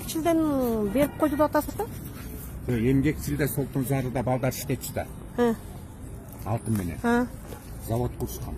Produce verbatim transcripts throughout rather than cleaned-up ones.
эмгекчилден берип койду деп атасыз да? Эмгекчилде Солтун Зарыда балдар иштечү да. Алтын менен. Завод курушкан.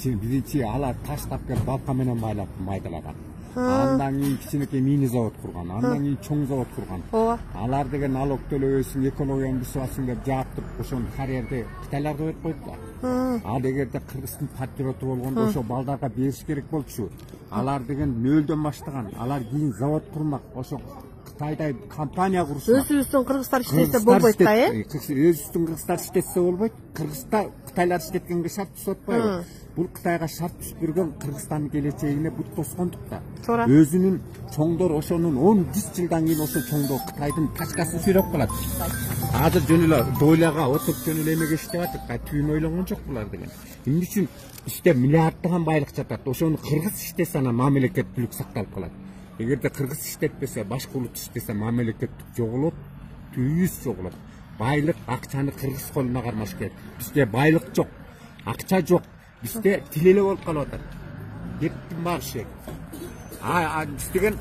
Биринчи алар таштап келип балка менен майдалаган. Андан кийин кичинекей мини завод курган, андан кийин чоң завод курган. Алар деген налог төлөбөйсүң, экологияны бузасың деп жаап туруп ошону карьерди Кытайларга берип койду да. Ал эгерде Кыргыздын патриоту болгондо ошо балдарга бериш керек болчу. Алар деген нөлдөн баштаган. Алар кийин завод курмак, ошо Кытайда компания курушмак. Өзүбүздүн кыргыздар иштесе болбойт да, э? Өзүбүздүн кыргыздар иштесе болбойт. Кыргыздар Кытайлар иштеткенге шарт түзүп атпайбы? Бул Кытайга шарт түзүп берген Кыргызстандын келечегине бут тоскондук да. Өзүнүн чоңдор ошонун он жүз жылдан кийин ошо чоңдор Кытайдын тачкасын сүйрөп калат. Азыр жөн эле дойлага отуруп жөн эле эмеге иштеп атат. Түйүн ойлонгон жок булар деген. Эмне үчүн бизде миллиарддаган байлык жатат. Ошону кыргыз иштесе анан мамлекеттүүлүк сакталып калат. Эгерде кыргыз иштетпесе, башка улут иштесе мамлекеттик жоголот, түйүз жоголот. Байлык, акчаны кыргыз колуна кармаш керек. Бизде байлык жок, акча жок. Бизде тилеле болуп калып атат. Кеттим багышы. А биз деген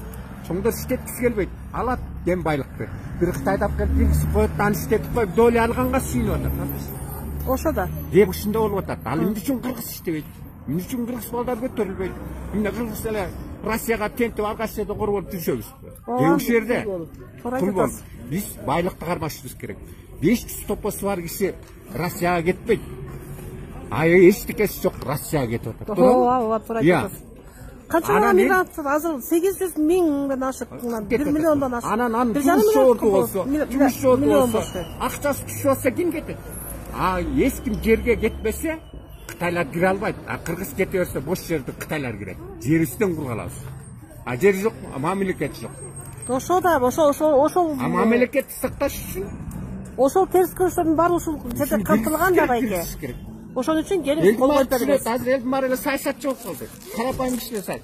чоңдор иштеткиси келбейт. Алат кен байлыкты. Бир Кытайда алып келип киргизип коет, аны иштетип коюп, доля алганга сүйүнүп атат. Ошо да. Кеп ушундай болуп атат. Ал эмне үчүн кыргыз иштебейт? Эмне үчүн кыргыз балдар көтөрүлбөйт? Эмне кыргыз эле Россияга тентип алгач жерде кор болуп жүрүшөбүз. Ушул жерде кул болуп. Биз байлыкты кармашыбыз керек. беш жүз топосу бар киши Россияга кетпейт. А эчтекеси жок Россияга кетип атат. Ооба, ооба, туура айтасыз. Канча мигрант азыр сегиз жүз миңден ашык, бир миллиондон ашык. Анан анын жумушу орду болсо, жумушу орду болсо, акчасы түшүп атса ким кетет? А эч ким жерге кетпесе Кытайлар кире албайт. А кыргыз кете берсе бош жерди Кытайлар кирет. Жерибизден кургалабыз. А жер жок, мамлекет жок. Ошо да, ошо ошо ошол. А мамлекетти сакташ үчүн ошол терс көрүштөрдүн баары ушул жерде камтылган да байке. Ошон үчүн келип кол коюп беребиз. Азыр элдин баары эле саясатчы болуп калды. Карапайым кишилер сай.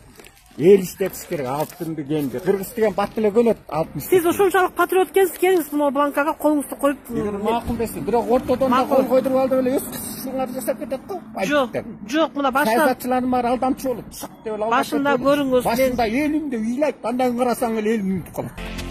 Эл иштетиш керек, алтынды кенди. Кыргыз деген бат эле көнөт алтын. Сиз ошончалык патриот экенсиз, келиңиз могу бланкага колуңузду коюп. Макул десиң, бирок ортодон да кол койдуруп алып эле өз кызчылыгыңарды жасап кетет го. Жок, жок, мына башында саясатчылардын баары алдамчы болот. Башында көрүңүз. Башында элимди ыйлайт, андан кийин карасаң эле эл үнүтүп калат.